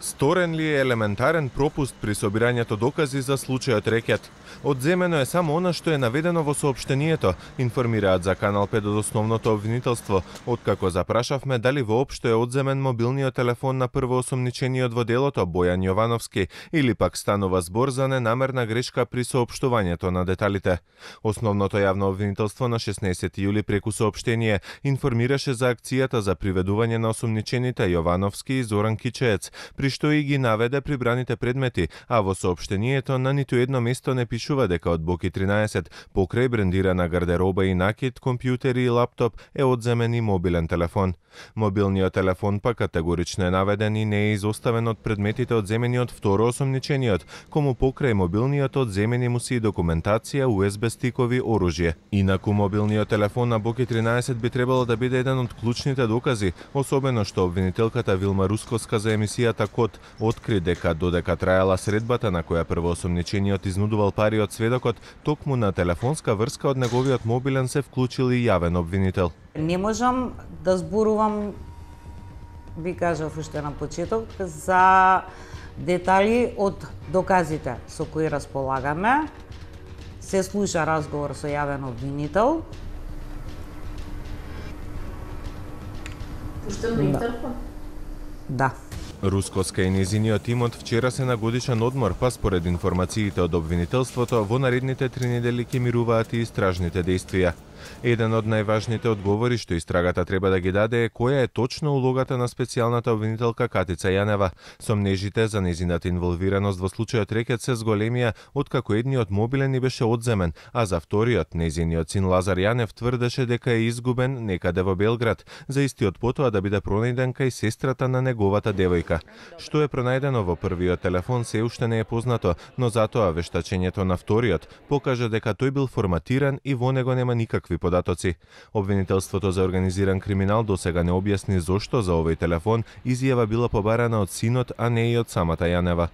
Сторен ли е елементарен пропуст при собирањето докази за случајот Рекет? Одземено е само она што е наведено во соопштението, информираат за Канал 5 од основното обвинителство, откако запрашавме дали воопшто е одземен мобилниот телефон на првоосомничениот во делото Бојан Јовановски или пак станува збор за ненамерна грешка при соопштувањето на деталите. Основното јавно обвинителство на 16 јули преку соопштение информираше за акцијата за приведување на осомничените Јовановски и Зоран Кичеец, при што и ги наведе прибраните предмети, а во соопштението на ниту едно место не пишува дека од Боки 13 покрај брендирана гардероба и накид, компјутери и лаптоп е одземен и мобилен телефон. Мобилниот телефон пак категорично е наведен и не е изоставен од предметите одземени од второосомничениот, кому покрај мобилниот одземени му се и документација, USB стикови, оружје. Инаку мобилниот телефон на Боки 13 би требало да биде еден од клучните докази, особено што обвинителката Вилма Рускоска за емисијата Код откри дека додека траела средбата на која првоосомничениот изнудувал пари од сведокот, токму на телефонска врска од неговиот мобилен се вклучил и јавен обвинител. Не можам да зборувам, ви кажав уште на почеток, за детали од доказите со кои располагаме. Се слуша разговор со јавен обвинител. Пуштен на интерфон? Да. Рускоска и незиниот тимот вчера се на годишен одмор, па според информациите од обвинителството, во наредните 3 недели ќе мируваат и истражните действија. Еден од најважните одговори што истрагата треба да ги даде е која е точно улогата на специјалната обвинителка Катица Јанева. Сомнежите за незината инволвираност во случајот Рекет се зголемија откако едниот мобилен ни беше одземен, а за вториот, незиниот син Лазар Јанев тврдеше дека е изгубен некаде во Белград, за истиот потоа да биде пронајден кај сестрата на неговата девојка. Што е пронајдено во првиот телефон се уште не е познато, но затоа вештачењето на вториот покажа дека тој бил форматиран и во него нема никакви податоци. Обвинителството за организиран криминал досега не објасни зошто за овој телефон изјава била побарана од синот, а не и од самата Јанева.